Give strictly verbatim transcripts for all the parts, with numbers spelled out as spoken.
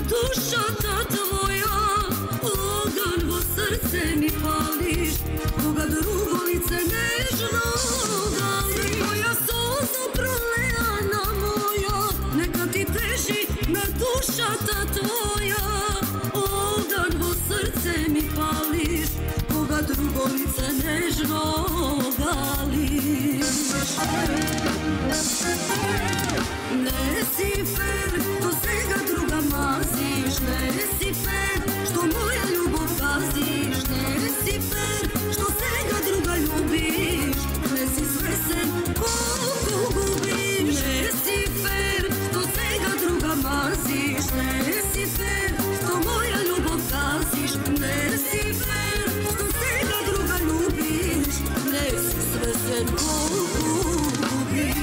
душата твоја, оган во срце ми палиш, кога друго лице нежно галиш. Моја солза пролеана моја, нека ти тежи на душата твоја, оган во срце ми палиш, кога друго лице нежно галиш. Не си фер, до сега друга мазиш, не си фер, што моја љубов газиш, не си фер, што сега друга љубиш, не си свесен колку губиш. Не си фер, што сега друга мазиш, не си фер, што моја љубов газиш, не си фер, што сега друга љубиш, не си свесен колку губиш.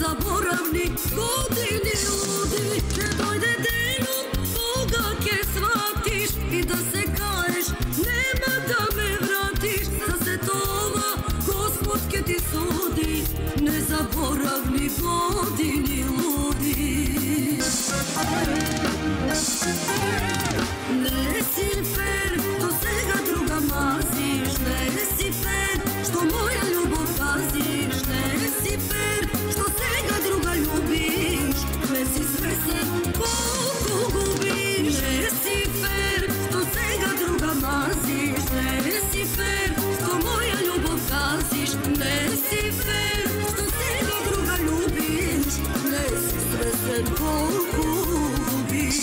Заборавни години луди, ќе дојде денот кога ќе сватиш и да се каеш, нема да ме вратиш. За се това Господ ќе ти суди, незаборавни години луди. Не си фер, до сега друга мазиш, не си фер, што моја љубов газиш, не си фер, што сега друга љубиш, не си свесен колку губиш. Не си фер, што сега друга мазиш, не си фер, што моја љубов газиш, не си фер, што сега друга љубиш, не си свесен колку губиш.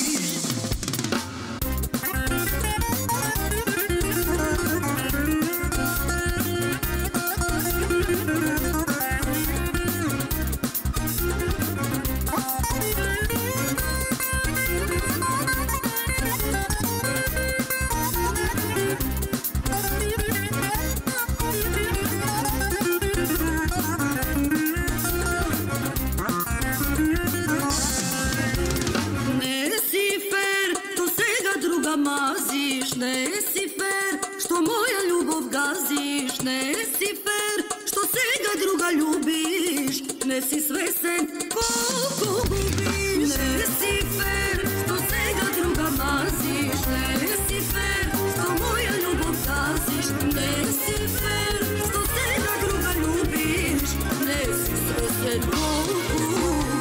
Мазиш, не си фер, што моја љубов газиш, не си фер, што сега друга љубиш, не си свесен колку губиш. Не си фер, што сега друга мазиш, не си фер, што моја љубов газиш, не си фер, што сега друга љубиш, не си свесен колку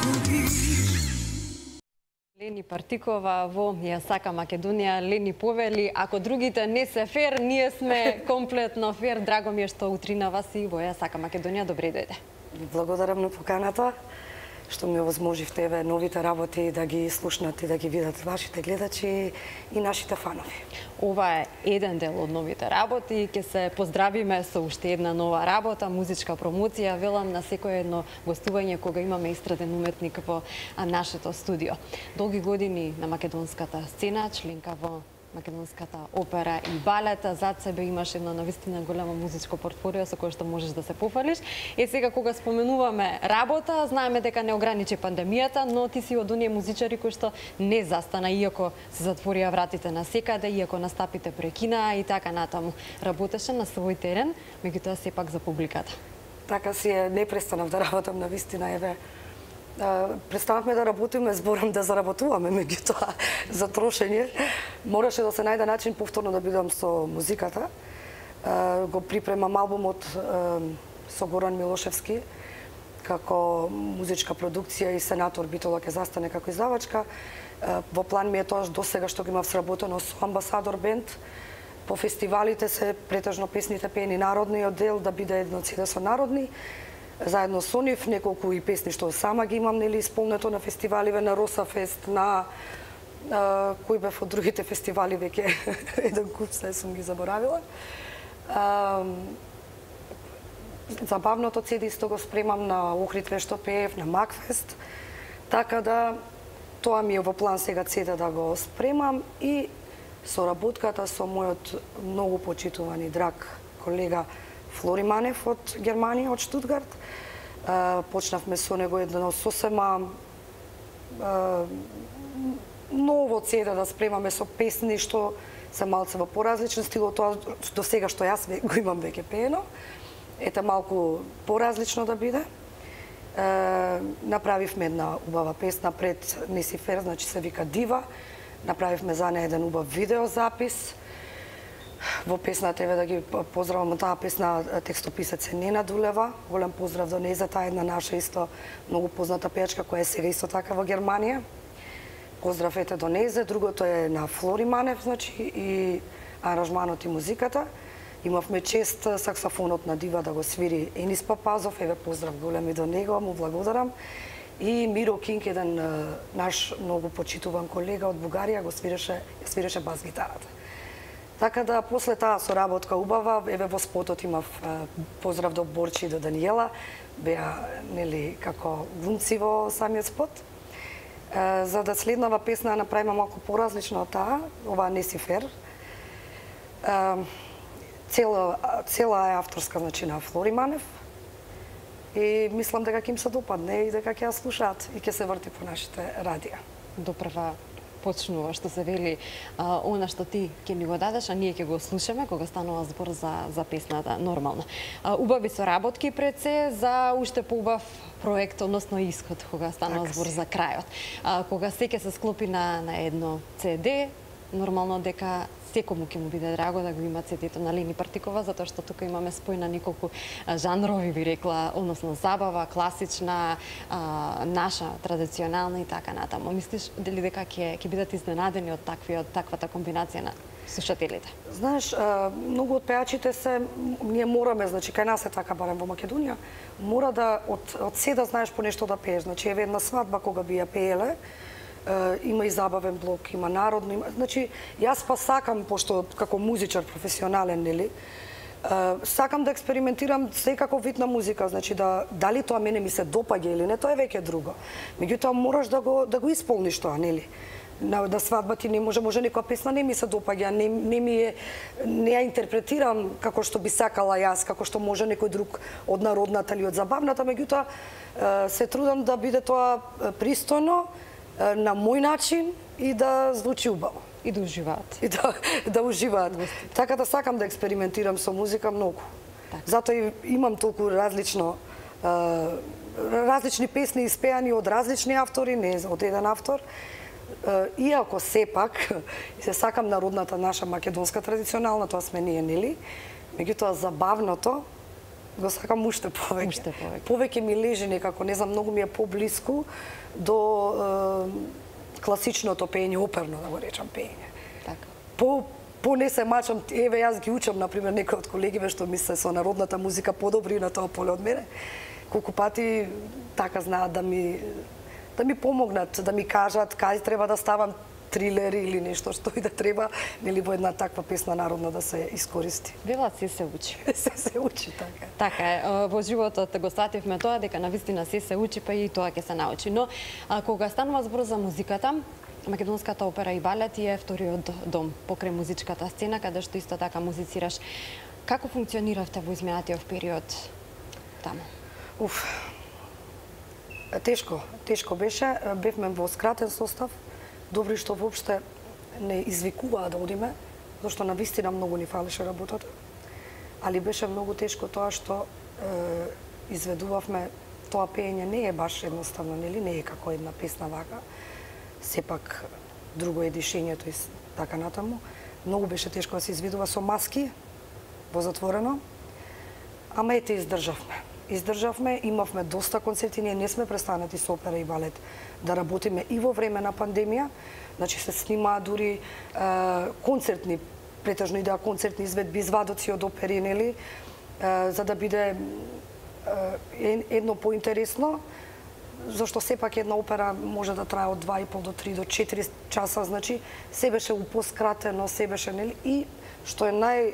губиш. Лени Партикова во Ја сакам Македонија. Лени повели, ако другите не се фер, ние сме комплетно фер. Драго ми е што утрина вас и во Ја сакам Македонија. Добре дојде. Благодарам на поканата, што ми овозможивте еве новите работи да ги слушнат и да ги видат вашите гледачи и нашите фанови. Ова е еден дел од новите работи. Ќе се поздравиме со уште една нова работа, музичка промоција. Велам на секој едно гостување кога имаме истраден уметник во нашето студио. Долги години на македонската сцена, членка во македонската опера и балет. Зад себе имаш едно навистина големо музичко портфолио со кое што можеш да се пофалиш. Е сега кога споменуваме работа, знаеме дека не ограничи пандемијата, но ти си од оние музичари кои што не застана, иако се затворија вратите на секаде, иако настапите прекинаа и така натаму. Работеше на свој терен, меѓутоа сепак за публиката. Така си е, не престанав да работам на вистина, еве. Престанавме да работиме, зборам да заработуваме, меѓутоа за трошење. Мораше да се најде начин повторно да бидам со музиката. Го припремам албумот со Горан Милошевски, како музичка продукција и Сенатор Битола ќе застане како издавачка. Во план ми е тоа досега што ги имав сработено со Амбасадор бенд. По фестивалите се претежно песните пеени народниот дел, да биде едно цеде со народни. Заедно со нив, неколку и песни што сама ги имам, нели, исполнето на фестиваливе, на Росафест, на а, кои бев од другите фестивали, веќе еден куп се сум ги заборавила. А, забавното цеде исто го спремам на Охрид вешто пеев, на Макфест, така да тоа ми е во план сега цеде да го спремам и соработката со мојот многу почитуван и драг колега Флори Манев од Германија, од Штутгарт. Почнавме со него едно сосема ново цеде да спремаме со песни што се малце во поразличен стил од тоа до сега што јас го имам веќе пеено. Ете малку поразлично да биде. Е, направивме една убава песна пред Несифер, значи се вика Дива. Направивме за неја еден убав видеозапис. Во песната еве да ги поздравам таа песна, текстописец е Нена Дулева. Голем поздрав до неја, за таа една наша исто многу позната пејачка која е сега исто така во Германија. Поздрав ете до нејзе. Другото е на Флори Манев, значи и аранжманот и музиката. Имавме чест саксофонот на Дива да го свири Енис Папазов, еве поздрав голем и до него, му благодарам. И Миро Кинг, еден наш многу почитуван колега од Бугарија, го свиреше, свиреше бас гитарата. Така да после таа соработка убава, еве во спотот имав поздрав до Борчи и до Даниела, беа нели како глумци во самиот спот. За да следнава песна направиме малку поразлична од таа, ова Несифер. Цела, цела е авторска, значи, на Флори Манев. И мислам дека ќе им се допадне и дека ќе ја слушаат и ќе се врти по нашите радија. Допрва почнува што се вели а, она што ти ќе ни го дадеш, а ние ќе го слушаме кога станува збор за, за песната нормално. А, убави соработки пред се за уште поубав проект, односно исход, кога станува така збор си за крајот. А, кога се ќе се склопи на, на едно це де, нормално дека секому ќе му биде драго да го има цедето на Лени Партикова, затоа што тука имаме спој на неколку жанрови, би рекла, односно забава, класична, а, наша, традиционална и така натаму. Мислиш дали дека ќе ќе бидат изненадени од такви од таквата комбинација на слушателите? Знаеш, многу од пејачите се, ние мораме, значи кај нас е така барем во Македонија, мора да од од се да знаеш по нешто да пееш. Значи еве една свадба кога би ја пееле, има и забавен блок, има народно, има... Значи, јас па сакам, пошто како музичар професионален, нели, сакам да експериментирам секаков вид на музика, значи да дали тоа мене ми се допаѓа или не, тоа е веќе друго. Меѓутоа мораш да го да го исполниш тоа, нели? На да свадба ти не може, може некоја песна не ми се допаѓа, не, не ми е, не ја интерпретирам како што би сакала јас, како што може некој друг од народната или од забавната, меѓутоа се трудам да биде тоа пристојно, на мој начин и да звучи убаво. И да уживаат. И да, да уживаат. Така да сакам да експериментирам со музика многу. Так. Затоа и имам толку различно, различни песни испеани од различни автори, не од еден автор. Иако сепак се сакам народната наша македонска традиционална, тоа сме ние, нели? Меѓутоа забавното го сакам уште повеќе. Уште повеќе. Повеќе ми лежи некако, не знам, многу ми е поблиску до е, класичното пење, оперно да го речам пење. Така. По по не се мачам, еве јас ги учам на пример некои од колегиве што ми се со народната музика подобри на тоа поле од мене. Колку пати така знаат да ми да ми помогнат, да ми кажат кај треба да ставам трилер или нешто што и да треба, нели во една таква песна народна да се искористи. Велат се се учи. се се учи, така. Така е, во животот го сативме тоа дека навистина се се учи, па и тоа ќе се научи. Но а, кога станува збор за музиката, Македонската опера и балет е вториот дом покрај музичката сцена, каде што исто така музицираш. Како функциониравте во изминатиот период таму? Уф. Тешко, тешко беше. Бевме во скратен состав. Добри што воопште не извикуваа да одиме, зашто навистина многу ни фалеше работата. Али беше многу тешко тоа што е, изведувавме, тоа пеење не е баш едноставно, нели, не е како една песна вака. Сепак друго е дишењето и така натаму. Многу беше тешко да се изведува со маски во затворено. Ама ете издржавме. Издржавме, имавме доста концерти, ние не сме престанати со опера и балет да работиме и во време на пандемија. Значи се снимаа дури е, концертни, претежно и да концертни изведби, извадоци од опери, нели, е, за да биде е, едно поинтересно, зашто сепак една опера може да трае од два и пол до три до четири часа, значи се беше упоскратено, се беше, нели, и што е нај е,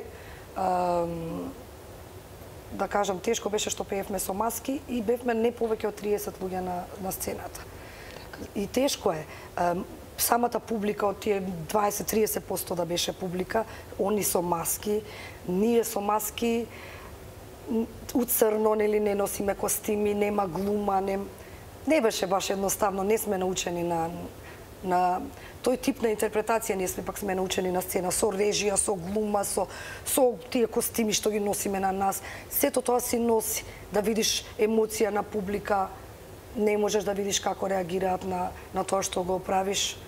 да кажам, тешко беше што пеевме со маски и бевме не повеќе од триесет луѓе на, на сцената. И тешко е. Самата публика од тие дваесет до триесет проценти да беше публика, они со маски, ние со маски, уцрно, нели, не носиме костими, нема глума, не, не беше баш едноставно, не сме научени на, на тој тип на интерпретација, ние сме пак сме научени на сцена, со режија, со глума, со, со тие костими што ги носиме на нас. Сето тоа си носи, да видиш емоција на публика, не можеш да видиш како реагираат на, на тоа што го правиш.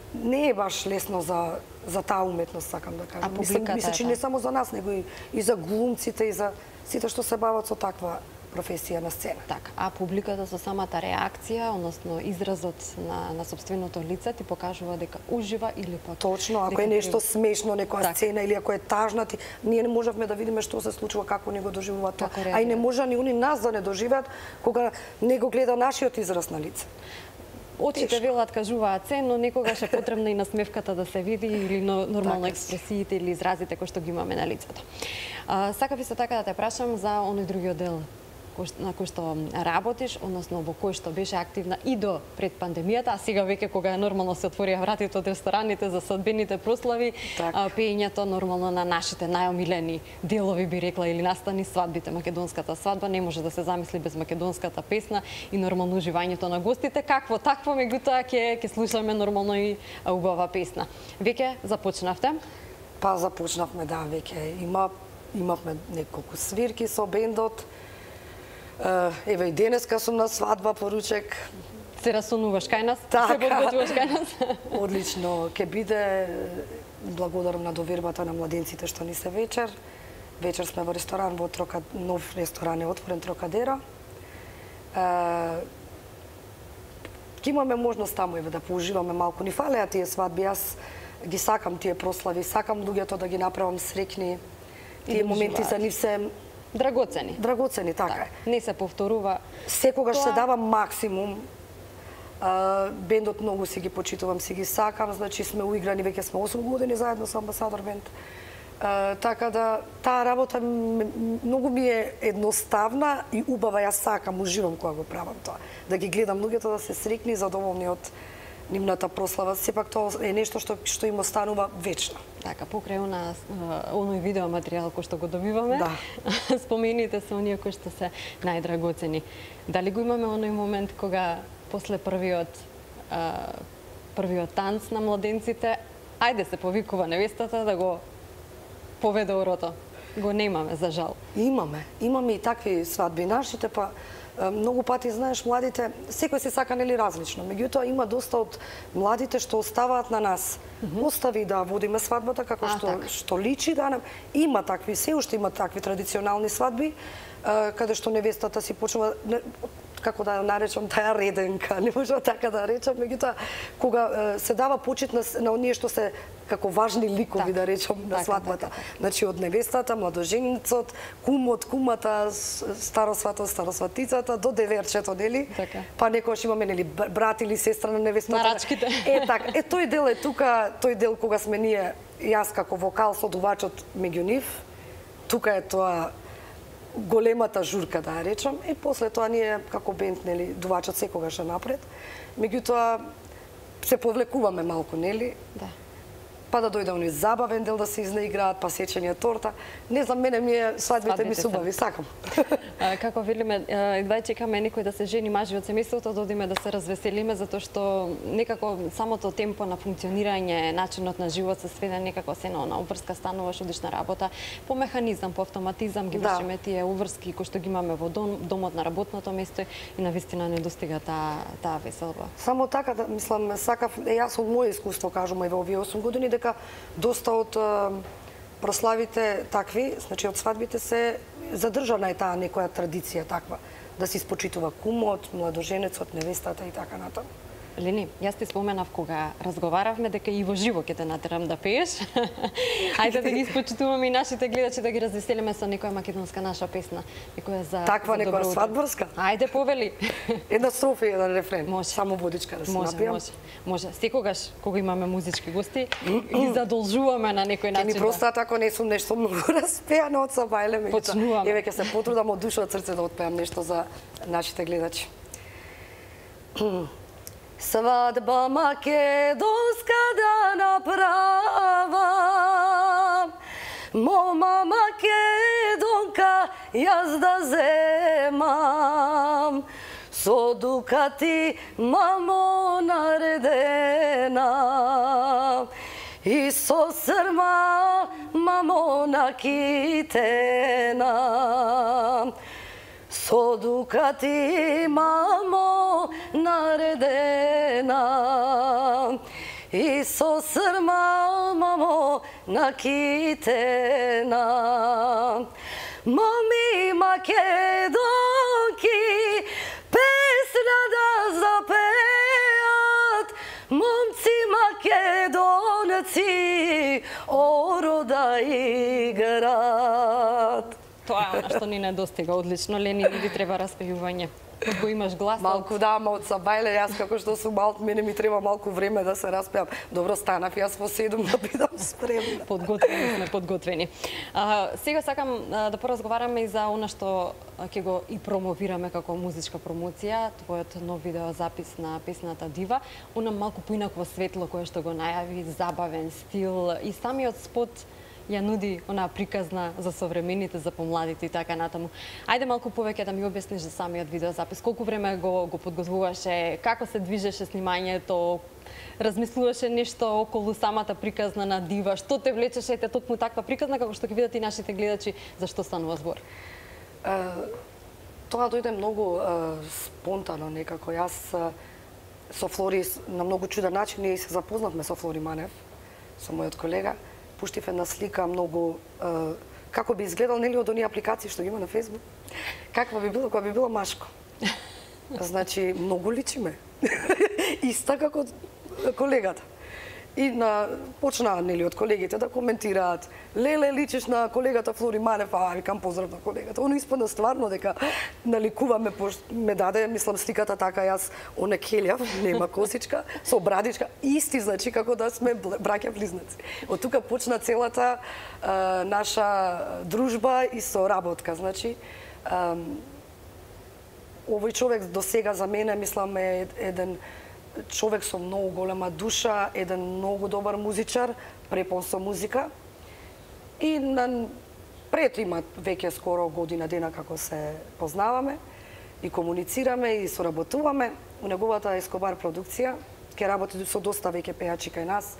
Не е баш лесно за, за таа уметност, сакам да кажам. А публиката Мислам, че не само за нас, него и, и за глумците, и за сите што се бават со таква професија на сцена. Така, а публиката со самата реакција, односно изразот на, на собственото лице ти покажува дека ужива или пак... Точно, ако е нешто смешно, некоја так. сцена или ако е тажна, ти, ние не можевме да видиме што се случува, како не го доживува тоа. А и не може ни они нас да не доживеат кога не го гледа нашиот израз на лице. Очите велат кажуваат се, но некогаш е потребна и насмевката да се види или нормално така, експресиите или изразите кои што ги имаме на лицето. А, сакав исто така да те прашам за оној другиот дел на кој што работиш, односно во кој што беше активна и до пред пандемијата, а сега веќе кога нормално се отворија вратите од рестораните за свадбените прослави, а, пеењето нормално на нашите најомилени делови, би рекла, или настани свадбите, македонската свадба, не може да се замисли без македонската песна и нормално уживањето на гостите. Какво такво, меѓутоа ќе ќе слушаме нормално и убава песна. Веќе започнавте? Па започнавме, да, веќе има имавме неколку свирки со бендот. Еве и денеска сум на свадба, поручек. Се расонуваш кај нас? Така. Се подготвуваш кај нас? Одлично, ќе биде, благодарам на довербата на младенците што ни се вечер. Вечер сме во ресторан, во Трока, нов ресторан е отворен, Трокадеро. Ќе имаме можност таму еве да поуживаме малку. Ни фалеа тие свадби, јас ги сакам тие прослави, сакам луѓето да ги направам среќни. Тие моменти за нив се драгоцени. Драгоцени, така е. Не се повторува. Секогаш Тоа... се дава максимум. А, бендот многу си ги почитувам, си ги сакам, значи сме уиграни, веќе сме осум години заедно со Амбасадор бенд. А, така да таа работа многу ми е едноставна и убава, јас сакам, уживам кога го правам тоа. Да ги гледам луѓето да се среќни и задоволни од нивната прослава, сепак тоа е нешто што што им останува вечно. Така, покрај она оној видео материјал кој што го добиваме, да. Спомените се оние кои што се најдрагоцени. Дали го имаме оној момент кога после првиот а, првиот танц на младенците, ајде се повикува невестата да го поведе орото? Го немаме, за жал. Имаме, имаме и такви свадби. Нашите па многу пати, знаеш, младите, секој се сака нели различно. Меѓутоа има доста од младите што оставаат на нас. Mm -hmm. Остави да водиме свадбата како а, што так. што личи да нам. Има такви, се уште има такви традиционални свадби, каде што невестата си почнува, како да ја наречам, таа реденка, не можам така да речам, меѓутоа кога се дава почит на, на оние што се како важни ликови, так, да речам, на така, свадбата. Така, така. Значи од невестата, младоженицот, кумот, кумата, старосватот, старосватицата до деверчето, нели? Така. Па некогаш имаме нели брат или сестра на невестата. Нарачките. Е така, е тој дел е тука, тој дел кога сме ние, јас како вокал со дувачот меѓу нив, тука е тоа големата журка, да ја речам, и после тоа ние како бенд, нели, дувачот секогаш е напред. Меѓутоа се повлекуваме малку, нели? Да. Па да дојде оној забавен дел да се изнаиграат, па сечење торта. Не знам, мене ми е свадбите ми субави, сакам. А, како велиме, едва чекаме некој да се жени, мажи од семејството, да одиме да се развеселиме, затоа што некако самото темпо на функционирање, начинот на живот се сведе некако се на она обврска, стануваш, одиш на работа, по механизам, по автоматизам ги вршиме да. Тие уврски кои што ги имаме во дом, домот на работното место и навистина не достига таа таа веселба. Само така, да, мислам, сакав, е, јас од моје искуство кажувам и во овие осум години, дека доста од прославите такви, значи од свадбите се задржана е таа некоја традиција таква, да се испочитува кумот, младоженецот, невестата и така натаму. Лени, јас ти споменав кога разговаравме дека и во живо ќе те натерам да пееш. Ајде да ги испочитуваме и нашите гледачи, да ги развеселиме со некоја македонска наша песна, некоја за Таква за некоја добро утро. свадбарска? Ајде, повели. Една строфа и еден рефрен. Може. Само водичка да се Може, напијам. може. Може. Секогаш кога имаме музички гости, ги задолжуваме на некој Ке начин. ми простат ако не сум нешто многу распеано од Сабајле, меѓутоа Почнуваме. еве ќе се потрудам од душа од срце да отпеам нешто за нашите гледачи. Свадба македонска да направам, мома македонка јас да земам, со дукати мамо наредена, и со срма мамо накитена. Со дукати мамо наредена, и со срма мамо накитена. Моми македонки песна да запеат, момци македонци орода играат. Тоа е што ни недостига одлично, Лени, не ви треба распејување. Го имаш глас. Малку да, ама од Сабајле, јас како што сум мал, мене ми треба малку време да се распеам. Добро, станав јас во седум да бидам спремна. Подготвени сме, подготвени. А, сега сакам а, да поразговараме и за она што ќе го и промовираме како музичка промоција, твојот нов видеозапис на песната Дива, она малку поинакво светло кое што го најави, забавен стил и самиот спот ја нуди онаа приказна за современите, за помладите и така натаму. Ајде малку повеќе да ми објасниш за самиот видеозапис. Колку време го, го подготвуваше, како се движеше снимањето, размислуваше нешто околу самата приказна на Дива, што те влечеше ете токму таква приказна, како што ќе видат и нашите гледачи, за што станува збор? Uh, тоа дојде многу uh, спонтано некако. Јас uh, со Флори на многу чуден начин ние се запознавме со Флори Манев, со мојот колега. Пуштив една слика многу uh, како би изгледал нели од оние апликации што ги има на Facebook. Каква би било кога би било машко. Значи многу личиме. Иста како колегата. И на почнаа нели од колегите да коментираат: "Леле, личиш на колегата Флори Манев." А викам поздрав на колегата. Оно испадна стварно дека наликуваме, ме даде, мислам, сликата така, јас онекелјав, нема косичка, со брадичка, исти, значи како да сме браќа близнаци. Од тука почна целата а, наша дружба и соработка, значи а, овој човек до сега за мене, мислам, е еден човек со многу голема душа, еден многу добар музичар, препон со музика. И на пред има веќе скоро година дена како се познаваме и комуницираме и соработуваме. У неговата Ескобар продукција ќе работи со доста веќе пејачи кај нас.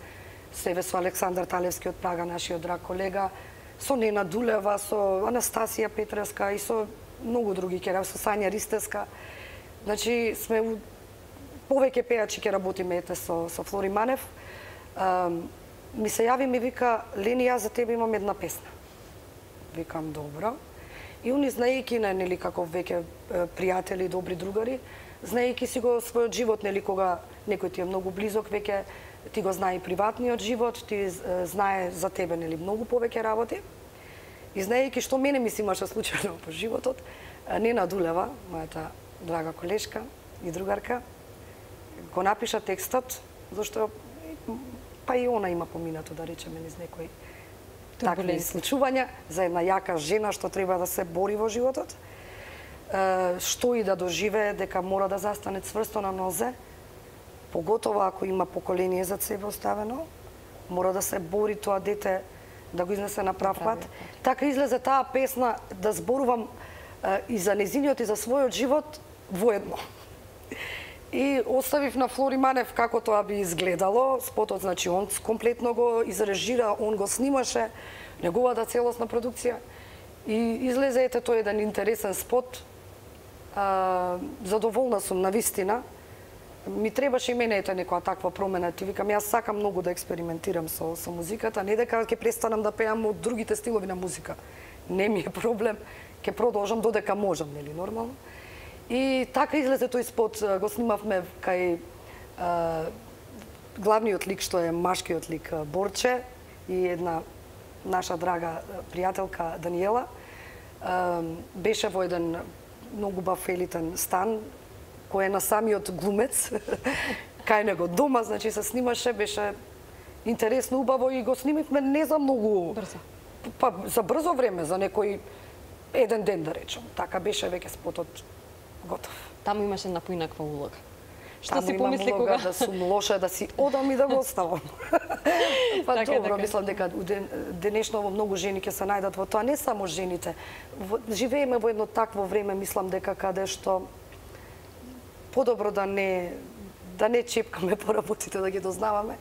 Себе со Александар Талевски од Прага, нашиот драг колега, со Нена Дулева, со Анастасија Петреска и со многу други ќе со Сања Ристеска. Значи сме повеќе пејачи ќе работиме ете со со Флори Манев. А, ми се јави ми вика: "Лени, јас за тебе имам една песна." Викам: "Добро." И они, знаејќи на нели како веќе пријатели, добри другари, знаејќи си го својот живот, нели кога некој ти е многу близок, веќе ти го знае приватниот живот, ти знае за тебе нели многу повеќе работи. И знаејќи што мене ми се имаше случајно по животот, Нена Дулева, мојата драга колешка и другарка, го напиша текстот, зашто па и она има поминато, да речеме, низ некои такви случувања за една јака жена што треба да се бори во животот, што и да доживее, дека мора да застане цврсто на нозе, поготово ако има поколение зад себе оставено, мора да се бори тоа дете да го изнесе на прав пат. Така излезе таа песна да зборувам и за незиниот и за својот живот воедно. И оставив на Флори Манев како тоа би изгледало. Спотот, значи, он комплетно го изрежира, он го снимаше, неговата целосна продукција. И излезе ете тој еден интересен спот. А, задоволна сум на вистина. Ми требаше и мене ете некоја таква промена. Ти викам, јас сакам многу да експериментирам со, со музиката, не дека ќе престанам да пеам од другите стилови на музика. Не ми е проблем, ќе продолжам додека можам, нели, нормално. И така излезе тој спот, го снимавме кај главниот лик што е машкиот лик Борче и една наша драга пријателка Даниела беше во еден многу бав елитен стан кој е на самиот глумец кај него дома, значи се снимаше, беше интересно, убаво и го снимивме не за многу брзо. Па за брзо време, за некој еден ден да речем. Така беше веќе спотот готов. Таму имаше една поинаква улога. Што Таму си помисли улога кога да сум лоша, да си одам и да го оставам. Па така, добро, така. мислам дека денешново многу жени ќе се најдат во тоа, не само жените. Живееме во едно такво време, мислам дека каде што подобро да не да не чепкаме по работите, да ги дознаваме.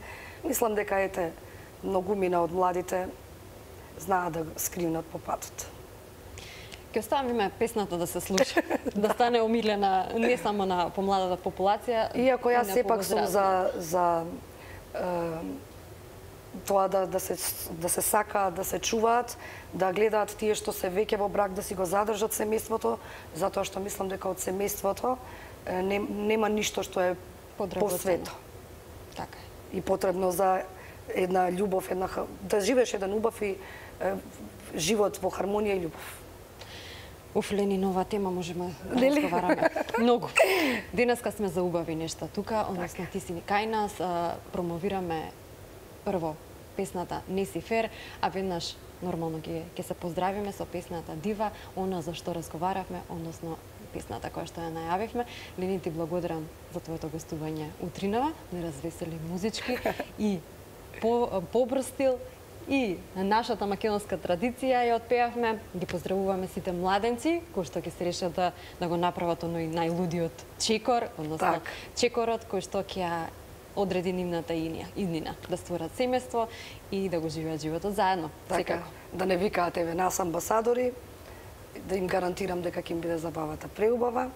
Мислам дека ете многумина од младите знаат да скривнат по патот. Ќе оставиме песната да се слуша, да стане омилена не само на помладата популација. Иако јас сепак сум за за е, тоа да да се да се сака, да се чуваат, да гледаат тие што се веќе во брак да си го задржат семејството, затоа што мислам дека од семејството не, нема ништо што е посвето. Така е. И потребно за една љубов, една да живееш еден убав и е, живот во хармонија и љубов. Уф, Лени, нова тема можеме да разговараме. Многу. Денеска сме за убави нешта тука, односно ти си кај нас, промовираме прво песната Не си фер, а веднаш нормално ќе ќе се поздравиме со песната Дива, она за што разговаравме, односно песната која што ја најавивме. Лени, ти благодарам за твоето гостување утринава, не развесели музички и по побрз стил и нашата македонска традиција ја отпеавме. Ги поздравуваме сите младенци кои што ќе се решат да, да го направат оној најлудиот чекор, односно так. чекорот кој што ќе одреди нивната иднина, да створат семејство и да го живеат животот заедно. Така, секако. Да не викаат еве нас амбасадори, да им гарантирам дека ќе им биде забавата преубава.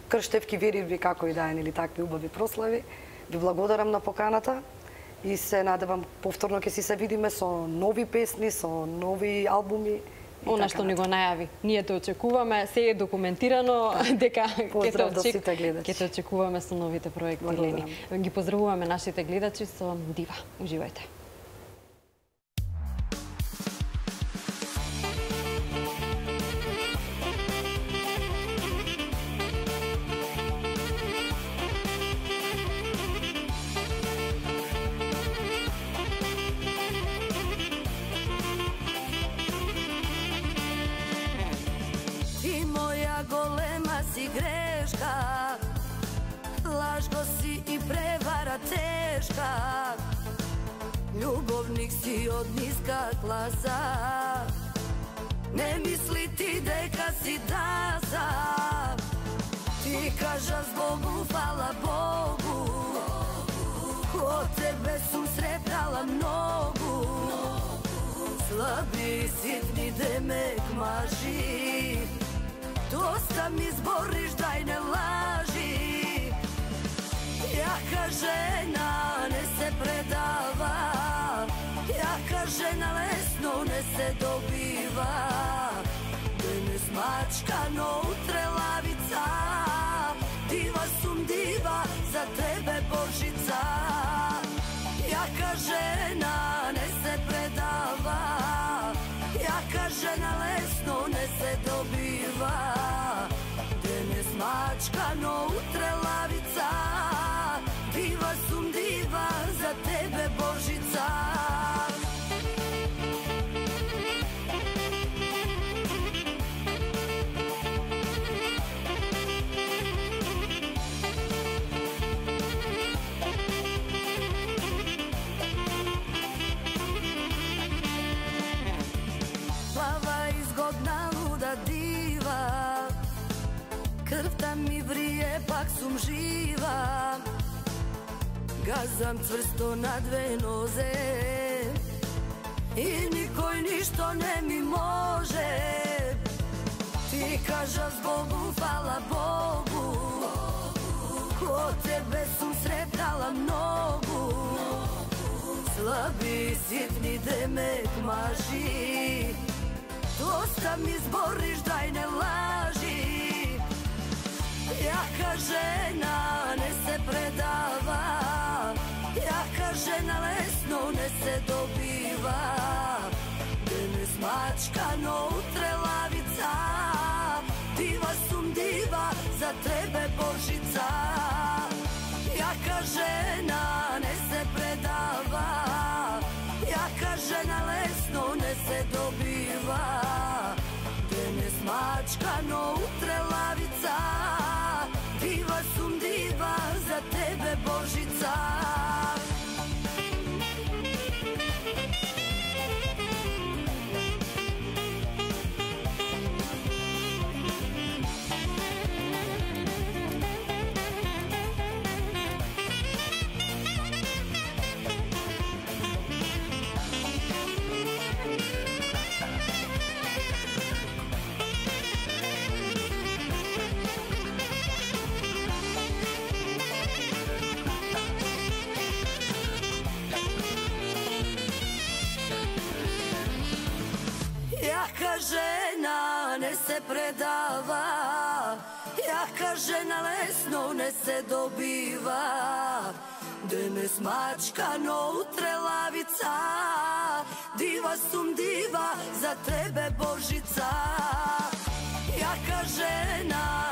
Крштевки веривби како и да е, или такви убави прослави. Ви благодарам на поканата и се надевам повторно ќе си се видиме со нови песни, со нови албуми. Она што ни го најави. Ние те очекуваме, се е документирано дека ќе те, очек... ќе те очекуваме со новите проекти, Лени. Ги поздравуваме нашите гледачи со Дива. Уживајте. Si greška, lažno si i prevara teška, ljubovnik si od niska klasa, ne misli ti deka si daza, ti kaža zbogu, hvala Bogu, od tebe sam sretala mnogu, slabi sitni demek maži, dosta mi zboriš, daj ne laži. Jaka žena ne se predava, jaka žena lesno ne se dobiva, danes mačkano utrelavica, diva sum diva, za tebe Božica. Jaka žena ne se predava, jaka žena lesno ne se dobiva, danes mačkano utrelavica, diva sum diva, za tebe Božica. Krvta mi vrije, pak sum živa, gazam cvrsto na dve noze i nikoj ništo ne mi može. Ti kaža zbogu, hvala Bogu, ko tebe sum sretala mnogu, slabi sitni demek maži, dosta mi zboriš, daj ne laži. Jaka žena ne se pre смачкано утрелавица, дива сум дива за тебе Божица. Јака жена не се предава, јака жена лесно не се добива. Денес мачкано утрелавица, дива сум дива за тебе Божица. Јака жена